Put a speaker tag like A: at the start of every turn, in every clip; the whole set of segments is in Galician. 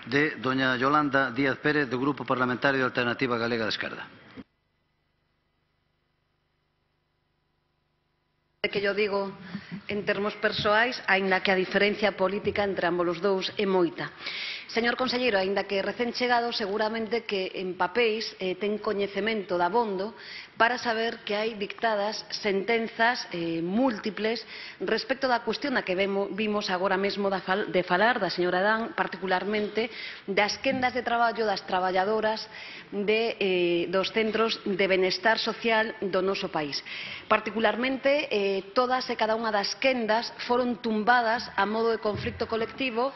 A: de doña Yolanda Díaz Pérez, do Grupo Parlamentario de Alternativa Galega de Esquerda.
B: Que yo digo en termos persoais, aínda que a diferencia política entre ambos os dous é moita. Señor conselleiro, aínda que recén chegado, seguramente que en papéis ten coñecemento dabondo para saber que hai dictadas sentenzas múltiples respecto da cuestión da que vimos agora mesmo de falar da señora Adán, particularmente das quendas de traballo das traballadoras dos centros de benestar social do noso país. Particularmente, todas e cada unha das quendas foron tumbadas a modo de conflito colectivo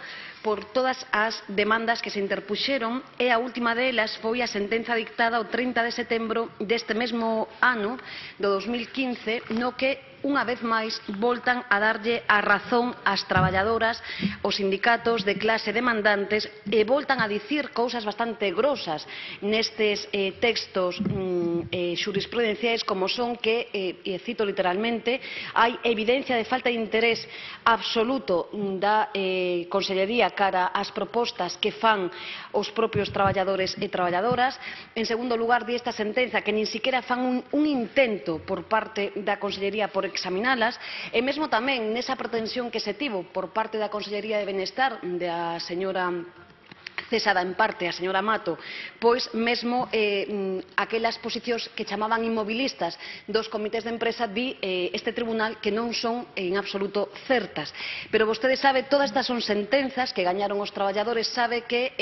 B: por todas as demandas que se interpuxeron e a última delas foi a sentenza dictada o 30 de setembro deste mesmo ano, do 2015, no que unha vez máis voltan a darlle a razón ás traballadoras, os sindicatos de clase demandantes e voltan a dicir cousas bastante grosas nestes textos xurisprudenciais como son que, e cito literalmente, hai evidencia de falta de interés absoluto da Consellería cara ás propostas que fan os propios traballadores e traballadoras. En segundo lugar, di esta sentenza que nin siquiera fan un intento por parte da Consellería por examinalas e mesmo tamén nesa pretensión que se tivo por parte da Consellería de Benestar da señora cesada en parte a señora Mato, pois mesmo aquelas posicións que chamaban inmobilistas dos comités de empresa di este tribunal que non son en absoluto certas. Pero vostede sabe, todas estas son sentenzas que gañaron os traballadores, sabe que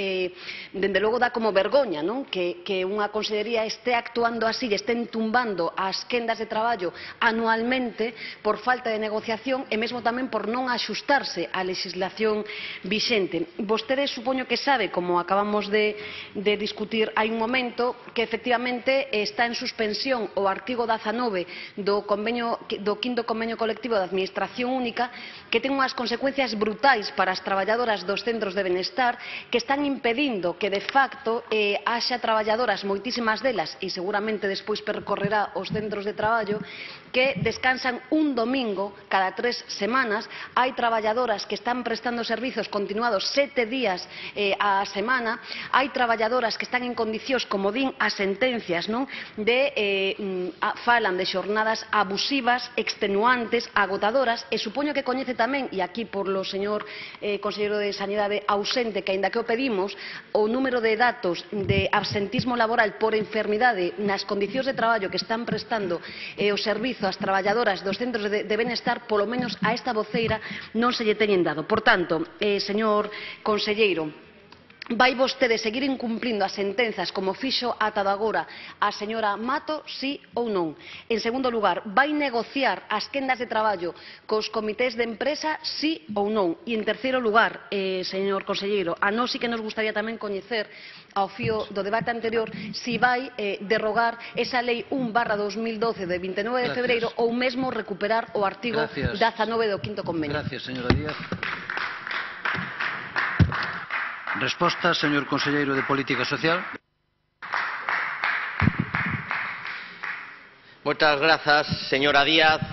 B: dende logo dá como vergoña, non? Que unha consellería este actuando así e estén tumbando as quendas de traballo anualmente por falta de negociación e mesmo tamén por non axustarse á legislación vixente. Vostede supoño que sabe, como acabamos de discutir hai un momento, que efectivamente está en suspensión o artigo 19 do 5º Convenio Colectivo de Administración Única, que ten unhas consecuencias brutais para as traballadoras dos centros de benestar, que están impedindo que de facto haxa traballadoras, moitísimas delas, e seguramente despois percorrerá os centros de traballo, que descansan un domingo cada 3 semanas. Hai traballadoras que están prestando servizos continuados 7 días a semana, hai traballadoras que están en condicións, como din as sentencias, non? Falan de xornadas abusivas, extenuantes, agotadoras, e supoño que coñece tamén, e aquí polo señor conselleiro de Sanidade ausente, que aínda que o pedimos, o número de datos de absentismo laboral por enfermidade nas condicións de traballo que están prestando o servizo ás traballadoras dos centros de benestar, polo menos a esta voceira non se lle teñen dado. Por tanto, señor conselleiro, vai vostede seguir incumplindo as sentenzas como fixo ata agora a señora Mato, sí ou non? En segundo lugar, vai negociar as quendas de traballo cos comités de empresa, sí ou non? E en terceiro lugar, señor conselleiro, a nós sí que nos gustaría tamén coñecer ao fío do debate anterior si vai derrogar esa lei 1/2012 de 29 de febreiro ou mesmo recuperar o artigo 19 do 5º Convenio.
A: Gracias, señora Díaz. Resposta, señor conselleiro de Política Social.
C: Moitas grazas, señora Díaz.